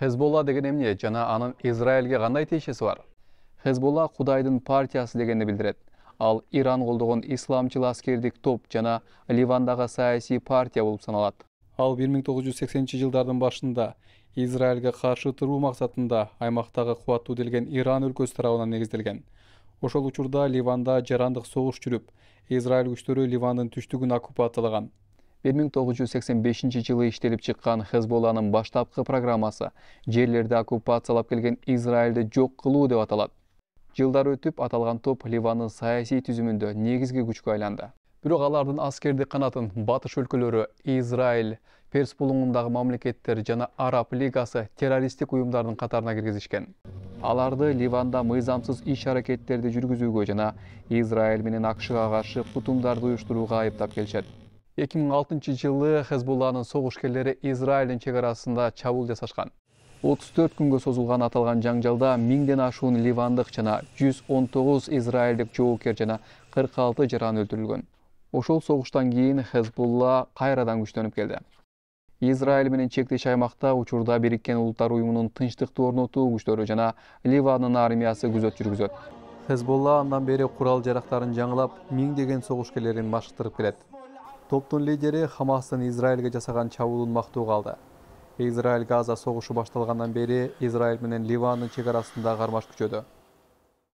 Хезболла деген эмне жана анын Израилге кандай тиешеси бар? Хезболла Кудайдын партиясы дегенди билдирет. Ал Иран колдогон исламчыл аскердик топ жана Ливандагы саясий партия болуп саналат. Ал 1980-жылдардын башында Израилге каршы туруу максатында аймактагы кубаттуу делген Иран өлкөсү тарабынан негизделген. Ошол учурда Ливанда жарандык согуш жүрүп, Израиль күчтөрү Ливандын түштүгүн оккупациялаган. 1985-жылы иштелип чыккан Хезболланын баштапкы программасы жерлерди оккупациялап келген Израилди жок кылуу деп аталат. Жылдар өтүп, аталган топ Ливандын саясий түзүмүндө негизги күчкө айланды. Бирок алардын аскердик канатын батыш өлкөлөрү, Израиль, Перс булуңундагы мамлекеттер жана Араб лигасы террористтик уюмдардын катарына киргизишкен. Аларды Ливанда мыйзамсыз иш-аракеттерди жүргүзүүгө жана Израиль менен АКШга каршы кутумдарды уюштурууга айыптап келишет. 2006-жылы Хезболланын согушкерлери Израилдин чек арасында чабуул жасашкан. 34 күнгө созулган аталган жаңжалда 1000ден ашуун ливандык жана 119 израилдик жоокер жана 46 жаран өлтүрүлгөн. Ошол согуштан кийин Хезболла кайрадан күчтөнүп келди. Израиль менен чектеш аймакта учурда Бириккен Улуттар уюмунун тынчтыкты орнотуу күчтөрү жана Ливандын армиясы күзөт жүргүзөт. Хезболла андан бери курал-жарактарын жаңылап, миңдеген согушкерлерин машыктырып келет. Топтун лидери Хамастын Израилге жасаган чабуулун мактоого алды. Израиль Газа согушу башталгандан бери Израиль менен Ливандын чек арасында кармаш күчөдү.